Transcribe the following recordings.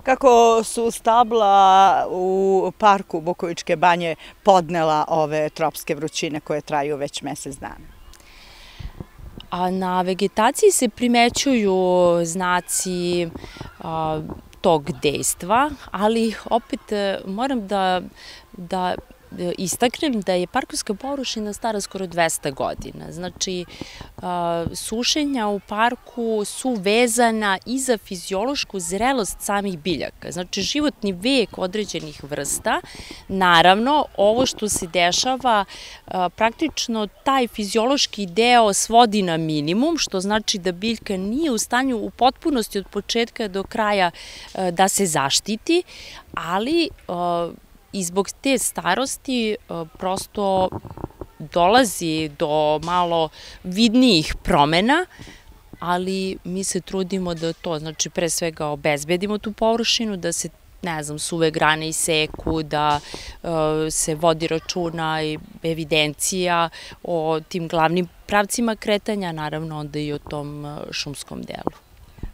Kako su stabla u parku Bukovičke banje podnela ove tropske vrućine koje traju već mesec dana? A na vegetaciji se primećuju znaci tog dejstva, ali opet moram da istaknem da je parkovska površina stara skoro 200 godina. Znači, sušenja u parku su vezana i za fiziološku zrelost samih biljaka. Znači, životni vek određenih vrsta, naravno, ovo što se dešava, praktično taj fiziološki deo svodi na minimum, što znači da biljka nije u stanju u potpunosti od početka do kraja da se zaštiti, ali i zbog te starosti prosto dolazi do malo vidnijih promena, ali mi se trudimo da to, znači pre svega obezbedimo tu površinu, da se, ne znam, suve grane iseku, da se vodi računa i evidencija o tim glavnim pravcima kretanja, naravno onda i o tom šumskom delu.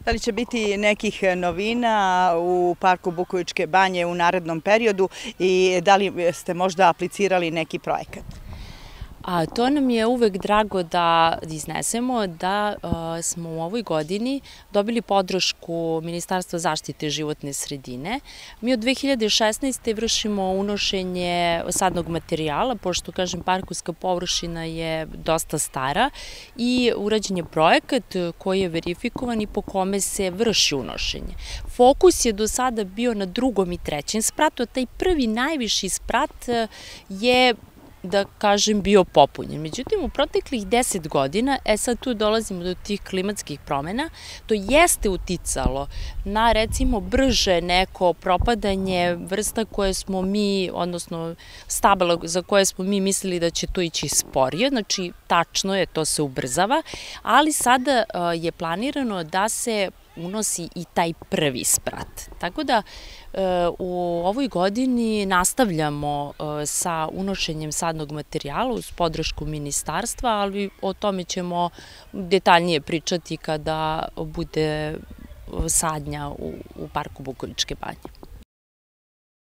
Da li će biti nekih novina u parku Bukovičke banje u narednom periodu i da li ste možda aplicirali neki projekat? A to nam je uvek drago da iznesemo, da smo u ovoj godini dobili podršku Ministarstva zaštite životne sredine. Mi od 2016. vršimo unošenje sadnog materijala, pošto, kažem, parkovska površina je dosta stara i urađen je projekat koji je verifikovan i po kome se vrši unošenje. Fokus je do sada bio na drugom i trećem spratu, a taj prvi najviši sprat je, da kažem, bio popunjen. Međutim, u proteklih 10 godina, sad tu dolazimo do tih klimatskih promena, to jeste uticalo na, recimo, brže neko propadanje vrsta koje smo mi, odnosno stabala za koje smo mi mislili da će to ići sporije, znači tačno je, to se ubrzava, ali sada je planirano da se unosi i taj prvi sprat. Tako da u ovoj godini nastavljamo sa unošenjem sadnog materijala uz podršku ministarstva, ali o tome ćemo detaljnije pričati kada bude sadnja u parku Bukovičke banje.